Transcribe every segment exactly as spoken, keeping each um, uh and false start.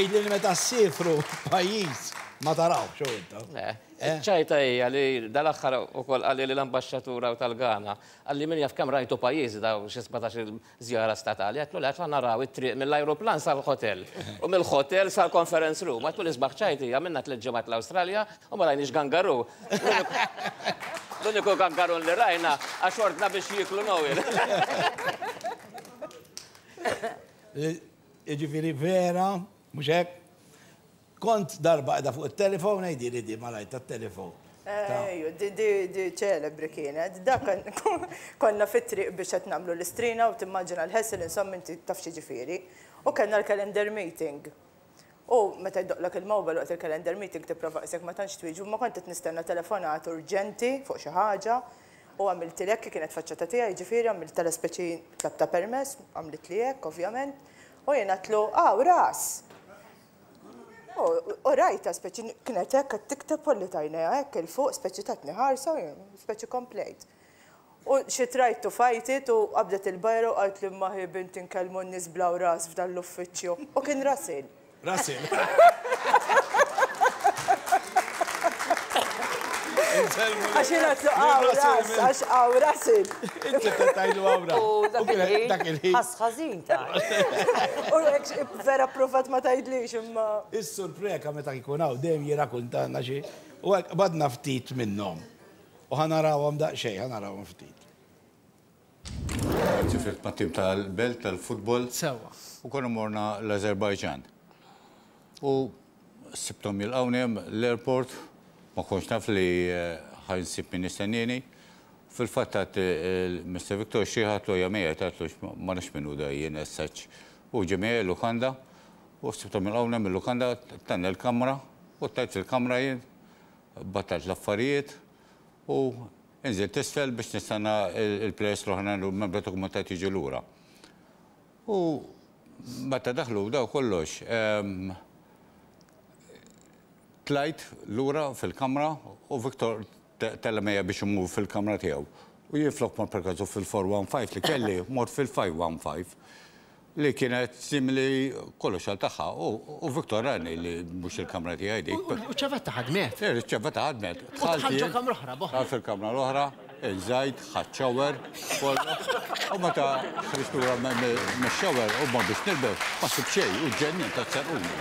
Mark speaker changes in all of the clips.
Speaker 1: Li meta ssifru pajjiż ma tarawx, u intom.
Speaker 2: Ċajta hija li dal-aħħar ukoll qalli li l-ambaxxatura tal-Ghana qalli min jaf kemm rajtu pajjiżi daw xi sbatax-il żjara statali, għedtlu le, għedtlu naraw it-triq mill-ajruplan sal-hotel u mill-hotel sal-conference room. Għedtlu l-isbaħ ċajt hija minna tliet ġimgħat l-Awstralja u ma rajniex kangaroo. L-uniku kangaroo li rajna għax ordna biex jieklu Noel.
Speaker 1: Jiġifieri vera, mhux hekk? Kont darba qiegħda fuq it-telefon, ngħidili di malajr tat-telefon.
Speaker 3: Ejju, di di di ċelebri kienet. Dak konna fit-triq biex qed nagħmlu l-istrina u timmaġina l-ħesel, insomma inti taf x'jiġifieri. U kellna l-calendar meeting. U meta jdoqlok il-mobile waqt il-calendar meeting tipprova qisek ma tantx twieġbu, ma kont qed nistenna telefonat urġenti fuq xi ħaġa u għamiltilek, kienet faċċata tiegħi ġifieri, għamiltela speċi tlabta permess, għamlitli hekk ovvjament, u jien għedtlu, "Aw ras!" U rajta speċi kienet hekk qed tikteb u li tajnejha hekk il fuq speċi tatni ħarsa u jien speċi komplejt. U she tried to fight it u qabdet il-bajra u qalt li ma hi bint inkellmu n-nies bla ras f'dan l-uffiċċju. U kien Russell.
Speaker 1: Russell.
Speaker 3: Għax jien għedtlu għaw ras, għax għaw Russell.
Speaker 1: Inti tajlu għaw ras.
Speaker 4: U dak il-ħin ħass ħażin ta'.
Speaker 3: U hekk vera provat ma tgħidlix imma.
Speaker 1: Is-Sur Preca meta jkun hawn dejjem jirrakuntanna xi. U hekk badna ftit minnhom. U ħanarawhom daqsxejn, ħanarawhom ftit.
Speaker 5: Sifirt ma' tim tal-belt tal-futbol.
Speaker 6: Sewwa.
Speaker 5: U konna morna l-Azerbajġan. U sibthom jilqgħuni hemm l-airport, ma kontx naf li ħa nsib min jistennini. Fil-fatt għad Mister Victor xi ħadd l miegħi għedtlu ma nafx min hu da jien as such. U ġie miegħi l-lukanda u sibthom jilqgħuni mill-lukanda, tanni l-kamra u tajt fil-kamra jien, battalt l-affarijiet u nżilt isfel biex nistenna il-players l-oħrajn u membri ta' kumitat jiġu lura. U meta daħlu daw kollox, tlajt lura fil-kamra u Victor tella mejja biex imur fil-kamra tiegħu. U jien flok mort per każu fil-four one five li kelli, mort fil-five one five li kienet simili kollox għal tagħha. U Victor rani li mhux il-kamra tiegħi dik.
Speaker 6: U ċavetta ħadmet?
Speaker 5: Eh, ċavetta ħadmet.
Speaker 6: U dħalt ġo kamra oħra, boħra.
Speaker 5: Dħalt fil-kamra l-oħra, inżajt, ħadt shower, kollox. U meta ħriġt lura mix-shower u ma biex nilbes, ma sib xejn, u ġennin ta' ċarruni.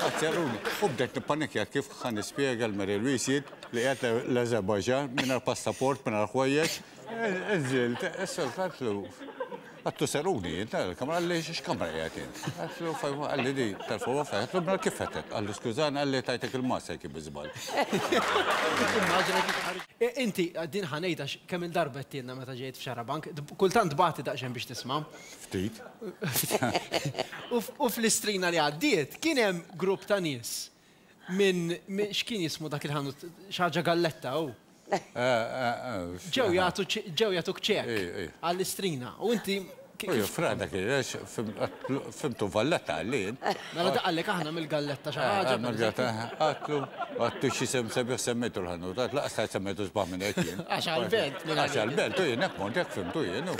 Speaker 5: Ta' ċarruni. U bdejt nippanikja kif ħa nispjega l-Mary Louise li qiegħed l-Azerbajġan mingħajr passaport, mingħajr ħwejjeġ. Inżilt, issa għedtlu, għedtlu seruni, inta l-kamra għalli x'kamra qiegħed int? Għedtlu fajwa, għalli di tal-fuq fejn, għedtlu mela kif fettet? Għalli skużani, għalli tajtek il-massa kif biżbal.
Speaker 6: Immaġina kif ħareġ. Inti, din ħanejda kemm il-darba għedtilna meta ġejt f'Xarabank, kultant tbati daqsxejn biex tisma'.
Speaker 5: Ftit.
Speaker 6: U fl-istrina li għaddiet kien hemm grupp ta' nies minn x'kien jismu dak il-ħanut, xi ħaġa Galletta hu. Ġew jagħtu ġew jagħtuk ċek għall-istrina u inti
Speaker 5: Ujju, fra dak il-għax fimtu Valletta għallin.
Speaker 6: Mela daqallek aħna mill-Galletta xi ħaġa.
Speaker 5: Mill-Galletta, għatlu, għattu xi sem sabiħ semmejtu l-ħanut, għatlu laqas tajt semmejtu sbaħ minn hekk jien.
Speaker 6: Għax għall-belt, minn
Speaker 5: Għax għall-belt, u jien hekk mort hekk fimtu jien.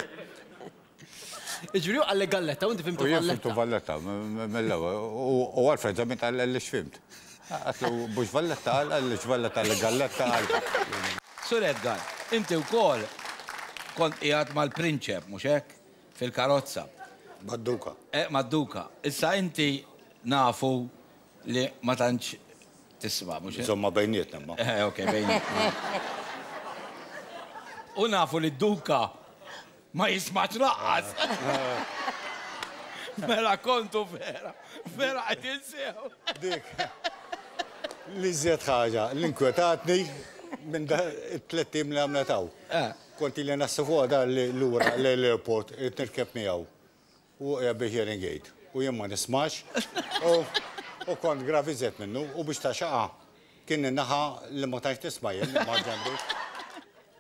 Speaker 6: Jiġifieri hu qallek Galletta u inti fimtu
Speaker 5: U jien
Speaker 6: Valletta.
Speaker 5: fimtu Valletta mill-ewwel. U Alfred Zammit qal li x'fimt. Għatlu mhux Valletta qal, qal li x'Valletta qal Galletta qal.
Speaker 7: Sur Edgar, inti wkoll kont qiegħed mal-prinċep, mhux hekk? Fil-karozza.
Speaker 5: Mad-duka.
Speaker 7: Eh, mad-duka. Issa inti nafu li ma tantx tisma', mhux hekk?
Speaker 5: Insomma bejnietna ma.
Speaker 7: Eh, ok, bejnietna. U nafu li d-duka ma jismax laqqas. Mela kontu vera, vera qed insew.
Speaker 5: Dik. Li żjed ħaġa, l-inkwetatni minn da it-tliet tim li għamlet hawn.
Speaker 7: Eh.
Speaker 5: Kont ili naħseb fuq da li lura l-airport irid nirkeb miegħu. U qiegħed bi hearing aid. U jien ma nismax. U kont gravi żjed minnu u biex ta' xaqa kien in-naħa li ma tantx tisma' jien ma ġenbi.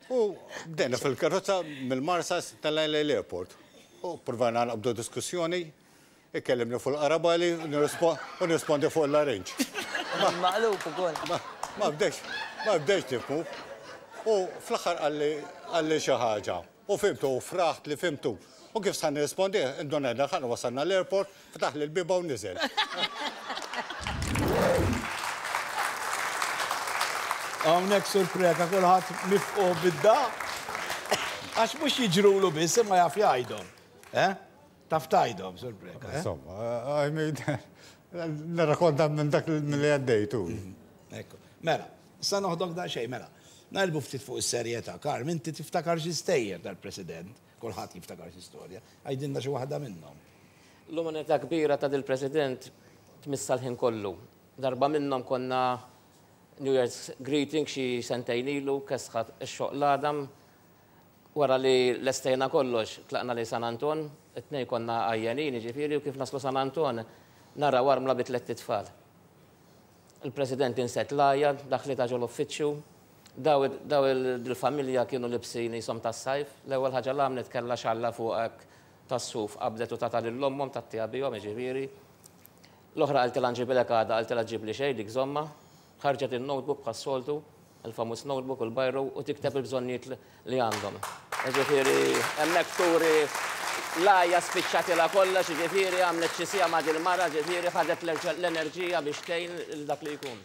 Speaker 5: U bdejna fil-karozza mill-Marsa tal-lejl l-airport. U provajna naqbdu diskussjoni, ikellimni fuq l-Qarabali u nirrispondi fuq l-Arinġ.
Speaker 4: Maqlub ukoll.
Speaker 5: Ma bdejx, ma bdejx nifhmu. U fl-aħħar qalli qalli xi ħaġa. U fimtu, u fraħt li fimtu. U kif sħan nirrispondi, indunajna ħana wasalna l-airport, fetaħ li l-biba u niżel.
Speaker 1: Hawnhekk, Sur Preca, kulħadd mifqu bidda. Għax mhux jiġrulu biss, imma jaf jgħidhom. Eh? Taf tgħidhom, Sur Preca. Eh?
Speaker 5: Insomma, I mean, nirrakkonta minn dak li għaddejtu.
Speaker 1: Ekku. Mela, issa noħdok daqsxejn, mela. Naqilbu ftit fuq is-serjetà. Carm, inti tiftakar xi stejjer tal-President, kulħadd jiftakar xi storja. Għidilna xi waħda minnhom.
Speaker 2: L-umanità kbira ta' dil-President tmissa l-ħin kollu. Darba minnhom konna New Year's greeting xi sentejn ilu, kesħat ix-xoq l-għadam. Wara li lestejna kollox, tlaqna li San Anton, it-tnejn konna għajjanin, ġifieri, u kif naslu San Anton, nara armla bi tlett itfal. Il-President inset l-għajja, daħlitha ġol uffiċċju, daw daw il-familja kienu libsin jisom tas-sajf, l-ewwel ħaġa l-għamlet kellha xalla fuqek tas-suf, qabdet u tata lil ommhom tattija bihom, ġifieri. L-oħra qaltilha nġibilek għada, qaltilha ġibli xejn dik żomma, ħarġet il-notebook bħas-soltu, il-famus notebook u l-biro u tikteb il-bżonnijiet li għandhom. Ġifieri, hemmhekk turi l-għajja spiċċatilha kollox, ġifieri għamlet xi siegħa ma' dil-mara, ġifieri ħadet l-enerġija biex tgħin dak li jkun.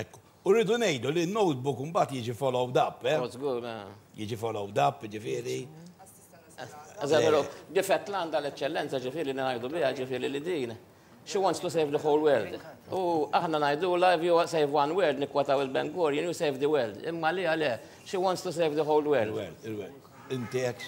Speaker 1: Ekku. U rridu ngħidu li n-notebook mbagħad jiġi followed up, eh?
Speaker 2: Oh, żgur, ma.
Speaker 1: Jiġi followed up, ġifieri.
Speaker 2: Eżatt, difett l-għanda l-eċċellenza, ġifieri li ngħidu biha, ġifieri li din. She wants to save the whole world. U aħna ngħidu la if you save one world, nikkwataw il-Ben Gurion, you save the world. Imma li għale, she wants to save the whole world.
Speaker 1: Il-world, il-world. Inti hekk.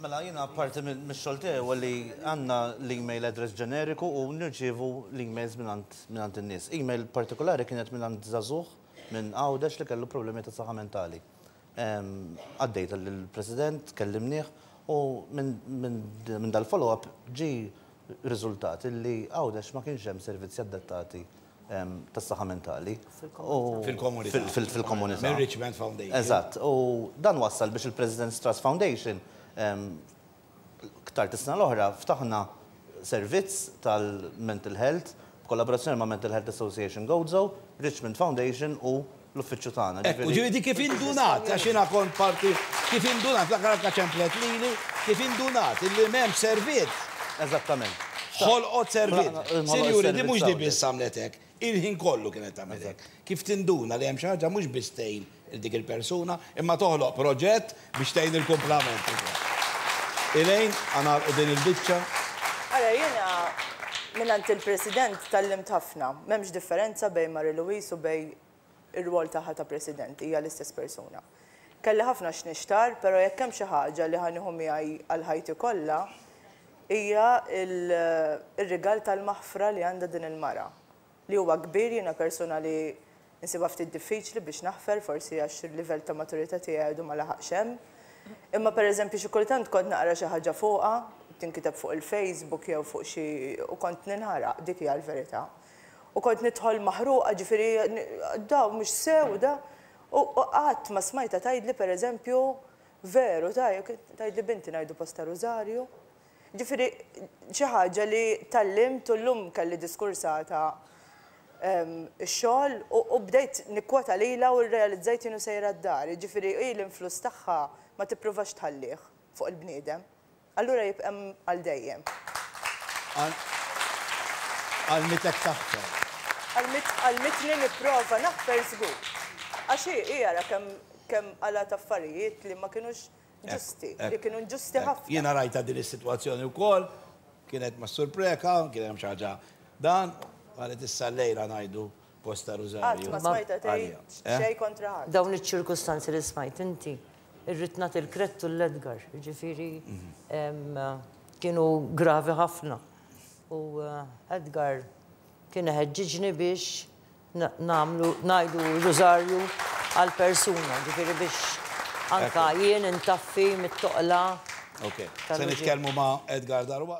Speaker 8: Mela jiena parti mix-xogħol tiegħi huwa li għandna l-email address ġeneriku u nirċievu l-emails mingħand mingħand in-nies. Email partikolari kienet mingħand żagħżugħ minn Għawdex li kellu problemi ta' saħħa mentali. Għaddejt lill-President, kellimnieh u minn dal-follow-up ġi riżultat illi Għawdex ma kienx hemm servizzi adattati tas-saħħa mentali.
Speaker 1: Fil-komunità.
Speaker 8: Fil-komunità.
Speaker 1: Minn Richmond Foundation.
Speaker 8: Eżatt, u dan wassal biex il-President's Trust Foundation ktar tis-sena l-oħra ftaħna servizz tal-Mental Health b'kollaborazzjoni ma' Mental Health Association Gozo, Richmond Foundation u l-uffiċċju tagħna.
Speaker 1: Ekku, ġifieri kif indunat, għax jiena kont parti, kif indunat, l-aktar ċemplet lili, kif indunat, illi m'hemm servizz.
Speaker 8: Eżattament.
Speaker 1: Ħolqot servizz. Sinjuri, di mhux di biss għamlet hekk, il-ħin kollu kienet tagħmel hekk. Kif tinduna li hemm xi ħaġa mhux biss tgħin il dik il-persuna, imma toħloq proġett biex tgħin il-kumplament. Elaine, għanarqu din il-biċċa.
Speaker 3: Ara, jiena mingħand il-President tgħallimt ħafna. M'hemmx differenza bejn Marie Louise u bejn ir-rwol tagħha ta' President, hija l-istess persuna. Kelli ħafna x'nixtar, però jekk hemm xi ħaġa li ħa nieħu miegħi għal ħajti kollha, hija il-rigal tal-maħfra li għandha din il-mara. Li huwa kbir, jiena persuna li nsibha ftit diffiċli biex naħfer, forsi għax il-livell ta' maturità tiegħi għadu ma laħaqx hemm. Imma pereżempju xi kultant kont naqra xi ħaġa fuqha, tinkiteb fuq il-Facebook jew fuq xi u kont ninħaraq, dik hija l-verità. U kont nidħol maħruqa, ġifieri daw mhux sew da. U qatt ma smajta tgħidli pereżempju veru tgħidli binti ngħidu posta Rosario. Ġifieri xi ħaġa li tgħallimt u llum kelli diskursata ix-xogħol u bdejt nikkwota lilha u rrealizzajt jienu sejra d-dar. Ġifieri hi l-influss tagħha ma tippruvax tħallih fuq il-bniedem. Allura jibqa' għal dejjem.
Speaker 1: Għallmitek taħfer.
Speaker 3: Għallmitni nipprova naħfer żgur. Għax hi ara kemm għalat affarijiet li ma kienux ġusti, li kienu ġusti ħafna.
Speaker 1: Jiena rajta din is-sitwazzjoni wkoll, kienet ma' Sur Preca, kien hemm xi ħaġa dan, qalet issa llejla ngħidu posta Rosario.
Speaker 3: Qatt ma smajta tgħid xejn kontra ħadd.
Speaker 4: Dawn iċ-ċirkustanzi li smajt inti, irrid nagħti l-kredtu l-Edgar, ġifieri kienu gravi ħafna. U Edgar kien ħeġġiġni biex nagħmlu ngħidu Rosario għal persuna, ġifieri biex anka jien intaffi mit-toqla.
Speaker 1: Ok, se nitkellmu ma' Edgar darwa.